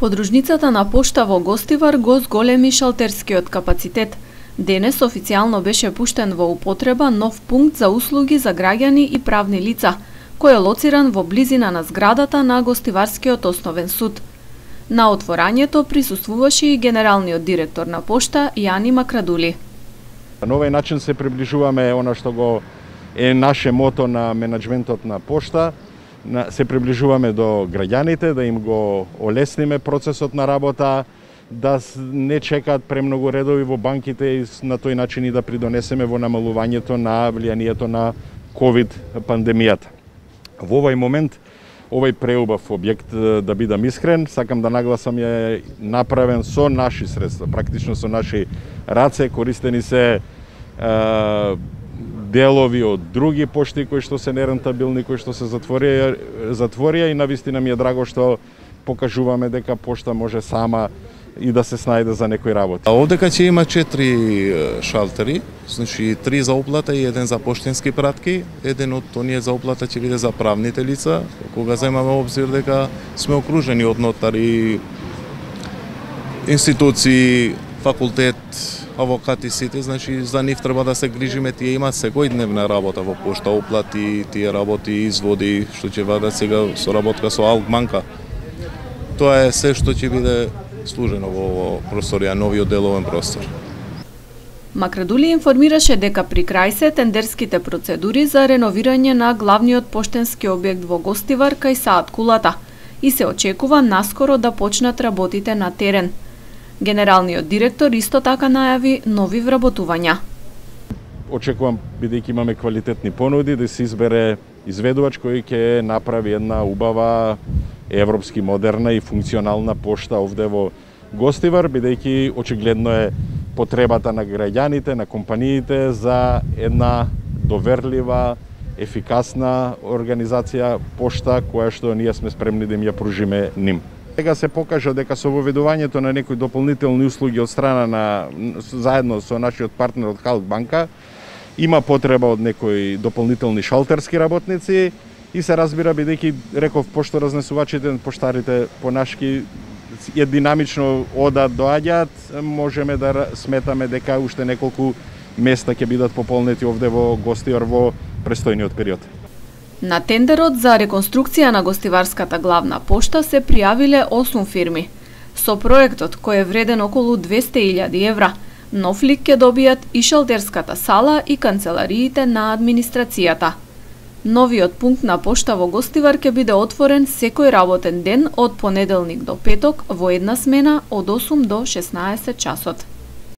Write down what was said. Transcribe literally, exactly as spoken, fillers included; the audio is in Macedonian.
Подружницата на пошта во Гостивар го зголеми шалтерскиот капацитет. Денес официјално беше пуштен во употреба нов пункт за услуги за граѓани и правни лица, кој е лоциран во близина на зградата на Гостиварскиот основен суд. На отворањето присуствуваше и генералниот директор на пошта Јани Макрадули. На овој начин се приближуваме она што го е наше мото на менаџментот на пошта, се приближуваме до граѓаните, да им го олесниме процесот на работа, да не чекаат премногу редови во банките и на тој начин и да придонесеме во намалувањето на влијанието на ковид пандемијата. Во овој момент, овој преубав објект, да бидам искрен, сакам да нагласам, е направен со наши средства, практично со наши раце, користени се е, делови од други пошти кои што се нерентабилни, кои што се затворија, затворија и навистина ми е драго што покажуваме дека пошта може сама и да се снајде за некој работа. Овдека ќе има четири шалтери, значи три за оплата и еден за поштенски пратки. Еден од оние за оплата ќе биде за правните лица, кога земаме обзир дека сме окружени од нотари, институции, факултет, авокати сите, значи за нив треба да се грижиме, тие имаат секојдневна работа во пошта, оплати, тие работи, изводи, што ќе вадат сега со работка со Алкбанка. Тоа е се што ќе биде служено во просторија, новиот деловен простор. Макрадули информираше дека при крај се тендерските процедури за реновирање на главниот поштенски објект во Гостивар кај Саат Кулата и се очекува наскоро да почнат работите на терен. Генералниот директор исто така најави нови вработувања. Очекувам, бидејќи имаме квалитетни понуди, да се избере изведувач кој ќе направи една убава, европски, модерна и функционална пошта овде во Гостивар, бидејќи очигледно е потребата на граѓаните, на компаниите за една доверлива, ефикасна организација пошта која што ние сме спремни да им ја пружиме ним. Сега се покажа дека со воведувањето на некои дополнителни услуги од страна на заедно со нашиот партнер од Халкбанка има потреба од некои дополнителни шалтерски работници и се разбира, бидејќи реков пошторазнесувачите, поштарите понашки е динамично одат, доаѓаат, можеме да сметаме дека уште неколку места ќе бидат пополнети овде во Гостивар во престојниот период. На тендерот за реконструкција на Гостиварската главна пошта се пријавиле осум фирми. Со проектот, кој е вреден околу двесте илјади евра, нов лик ќе добијат и шалтерската сала и канцелариите на администрацијата. Новиот пункт на пошта во Гостивар ќе биде отворен секој работен ден од понеделник до петок во една смена од осум до шеснаесет часот.